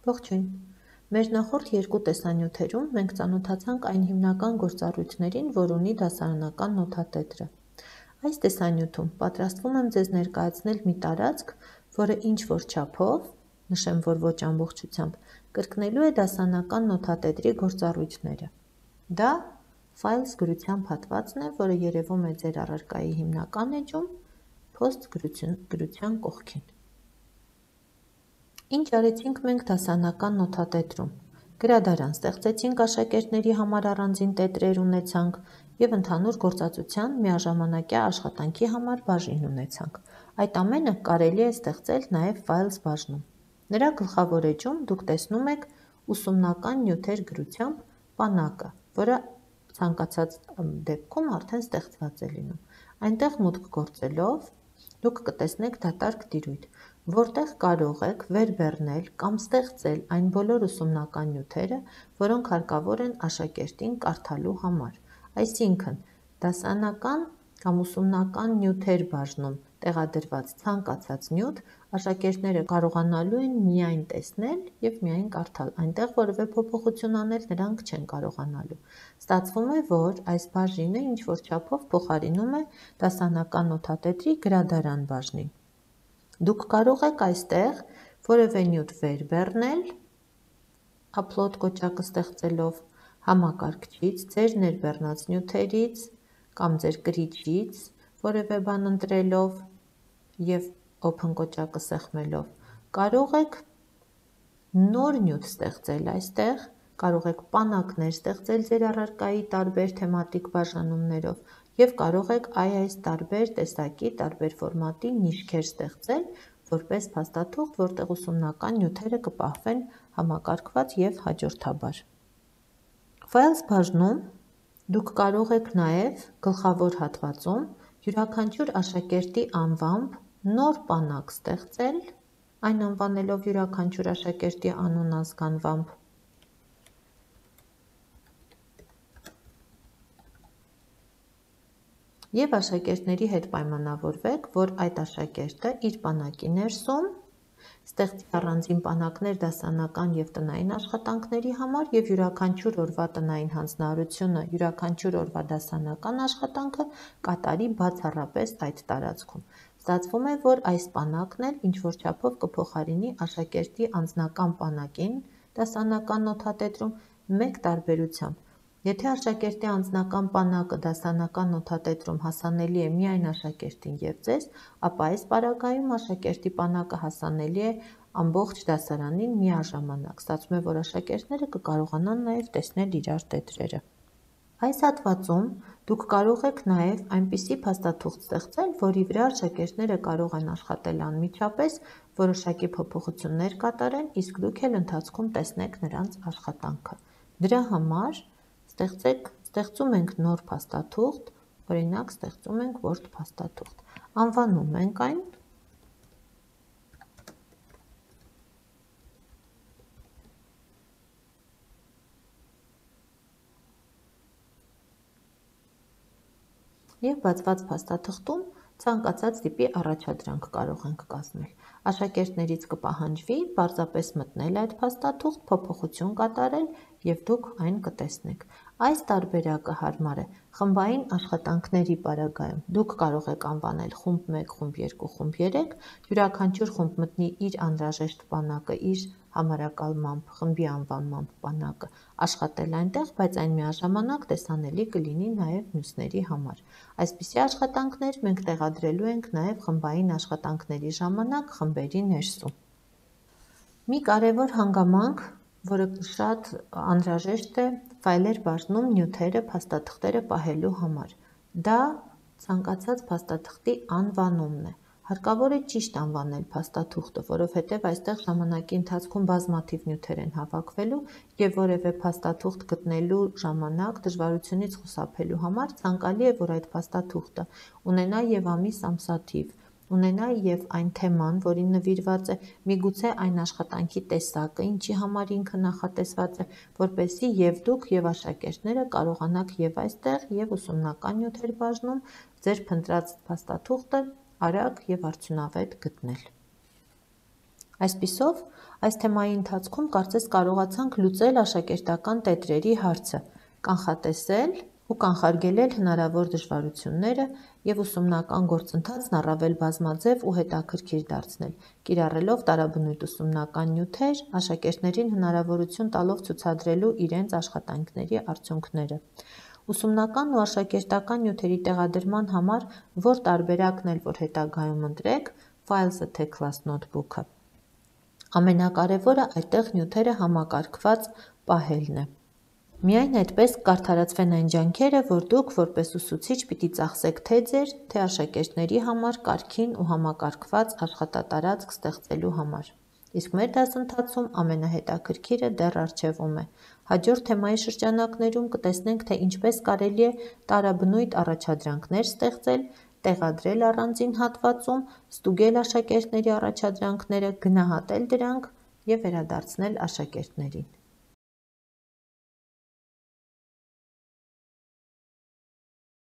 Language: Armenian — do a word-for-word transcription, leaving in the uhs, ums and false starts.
Ողջույն։ Մեր նախորդ երկու տեսանյութերում մենք ծանոթացանք այն հիմնական գործառույթներին, որ ունի դասարանական նոթատետրը։ Այս տեսանյութում պատրաստվում եմ ձեզ ներկայացնել մի տարածք, որը ինչ-որ չափով, նշեմ, որ ոչ ամբողջությամբ, կրկնելու է դասարանական նոթատետրի գործառույթները։ Դա Files գրության հատվածն է, որը երևում է ձեր առարկայի հիմնական էջում, Post գրության կողքին։ Ինչ արեցինք մենք դասարանական նոթատետրում։ Գրադարան ստեղծեցինք, աշակերտների համար առանձին տետրեր ունեցանք և ընդհանուր գործածության միաժամանակյա աշխատանքի համար բաժին ունեցանք։ Այդ ամենը կարելի է ստեղծել նաև Files բաժնում։ Նրա գլխավոր էջում դուք տեսնում եք ուսումնական նյութեր գրությամբ պանակը, որը ցանկացած դեպքում արդեն ստեղծված է լինում։ Այնտեղ մուտք գործելով դուք կտեսնեք դատարկ տիրույթ, որտեղ կարող եք վեր բեռնել կամ ստեղծել այն բոլոր ուսումնական նյութերը, որոնք հարկավոր են աշակերտին կարդալու համար։ Այսինքն, դասարանական կամ ուսումնական նյութեր բաժնում տեղադրված ցանկացած նյութ աշակերտները կարողանալու են միայն տեսնել և միայն կարդալ, այնտեղ որևէ փոփոխություն անել նրանք չեն կարողանալու։ Ստացվում է, որ այս բաժինը ինչ-որ չափով փոխարինում է դասարանական նոթատետրի գրադարան բաժնին։ Դուք կարող եք այստեղ որևէ նյութ վեր բեռնել, upload կոճակը ստեղծելով, համակարգչից, ձեր ներբեռնած նյութերից կամ ձեր կրիչից որևէ բան ընտրելով և open կոճակը սեղմելով, կարող եք նոր նյութ ստեղծել այստեղ, կարող եք պանակներ ստեղծել ձեր առարկայի տարբեր թեմատիկ բաժանումներով և կարող եք այ այս տարբեր տեսակի, տարբեր ֆորմատի նիշքեր ստեղծել, որպես փաստաթուղթ, որտեղ ուսումնական նյութերը կպահվեն համակարգված և հաջորդաբար։ Files բաժնում դուք կարող եք նաև գլխավոր հատվածում յուրաքանչյուր աշակերտի անվամբ նոր պանակ ստեղծել, այն անվանելով յուրաքանչյուր աշակերտի անուն ազգանվամբ, և աշակերտների հետ պայմանավորվեք, որ այդ աշակերտը իր պանակի ներսում ստեղծի առանձին պանակներ դասարանական և տնային աշխատանքների համար և յուրաքանչյուր օրվա տնային հանձնարարությունը, յուրաքանչյուր օրվա դասարանական աշխատանքը կատարի բացառապես այդ տարածքում։ Ստացվում է, որ այս պանակն էլ ինչ-որ չափով կփոխարինի աշակերտի անձնական պանակին դասարանական նոթատետրում մեկ տարբերությամբ։ Եթե աշակերտի անձնական պանակը դասարանական նոթատետրում հասանելի է միայն աշակերտին և ձեզ, ապա այս պարագայում աշակերտի պանակը հասանելի է ամբողջ դասարանին միաժամանակ։ Ստացվում է, որ աշակերտները կկարողանան նաև տեսնել իրար տետրերը։ Այս հատվածում դուք կարող եք նաև այնպիսի փաստաթուղթ ստեղծել, որի վրա աշակերտները կարող են աշխատել անմիջապես, որոշակի փոփոխություններ կատարեն, իսկ դուք էլ ընթացքում տեսնեք նրանց աշխատանքը։ Դրա համար ստեղծեք, ստեղծում ենք նոր փաստաթուղթ, օրինակ ստեղծում ենք Word փաստաթուղթ, անվանում ենք այն և բացված փաստաթղթում ցանկացած տիպի առաջադրանք կարող ենք կազմել։ Աշակերտներից կպահանջվի պարզապես մտնել այդ փաստաթուղթ, փոփոխություն կատարել և դուք այն կտեսնեք։ Այս տարբերակը հարմար է խմբային աշխատանքների պարագայում։ Դուք կարող եք անվանել խումբ մեկ, խումբ երկու, խումբ երեք, յուրաքանչյուր խումբ մտնի իր անհրաժեշտ պանակը իր համարակալմամբ, խմբի անվանմամբ պանակը, աշխատել այնտեղ, բայց այն միաժամանակ տեսանելի կլինի նաև մյուսների համար։ Այսպիսի աշխատանքներ մենք տեղադրելու ենք նաև խմբային աշխատանքների ժամանակ խմբերի ներսում։ Մի կարևոր հանգամանք, որը շատ անհրաժեշտ է ֆայլեր բաժնում նյութերը, փաստաթղթերը պահելու համար, դա ցանկացած փաստաթղթի անվանումն է։ Հարկավոր է ճիշտ անվանել փաստաթուղթը, որովհետև այստեղ ժամանակի ընթացքում բազմաթիվ նյութեր են հավաքվելու և որևէ փաստաթուղթ գտնելու ժամանակ դժվարությունից խուսափելու համար ցանկալի է, որ այդ փաստաթուղթը ունենա և ամիս ամսաթիվ, ունենա և այն թեման, որին նվիրված է, միգուցե այն աշխատանքի տեսակը, ինչի համար ինքը նախատեսված է, որպեսզի և դուք, և աշակերտները կարողանաք և այստեղ, և ուսումնական նյութեր բաժնում ձեր փնտրած փաստաթուղթը արագ և արդյունավետ գտնել։ Այսպիսով, այս թեմայի ընթացքում կարծես կարողացանք լուծել աշակերտական տետրերի հարցը, կանխատեսել ու կանխարգելել հնարավոր դժվարությունները և ուսումնական գործընթացն առավել բազմաձև ու հետաքրքիր դարձնել, կիրառելով տարաբնույթ ուսումնական նյութեր, աշակերտներին հնարավորություն տալով ցուցադրելու իրենց աշխատանքների արդյունքները։ Ուսումնական ու աշակերտական նյութերի տեղադրման համար որ տարբերակն էլ որ հետագայում ընտրեք, Files a Class Notebook-ը, ամենակարևորը այդտեղ նյութերը համակարգված պահելն է։ Միայն այդպես կարդարացվեն այն ջանքերը, որ դուք որպես ուսուցիչ պիտի ծախսեք թե ձեր, թե աշակերտների համար կարգին ու համակարգված աշխատատարածք ստեղծելու համար։ Իսկ մեր դասընթացում ամենահետաքրքիրը դեռ առջևում է։ Հաջորդ թեմայի շրջանակներում կտեսնենք, թե ինչպես կարելի է տարաբնույթ առաջադրանքներ ստեղծել, տեղադրել առանձին հատվածում, ստուգել աշակերտների առաջադրանքները, գնահատել դրանք և վերադարձնել աշակերտներին։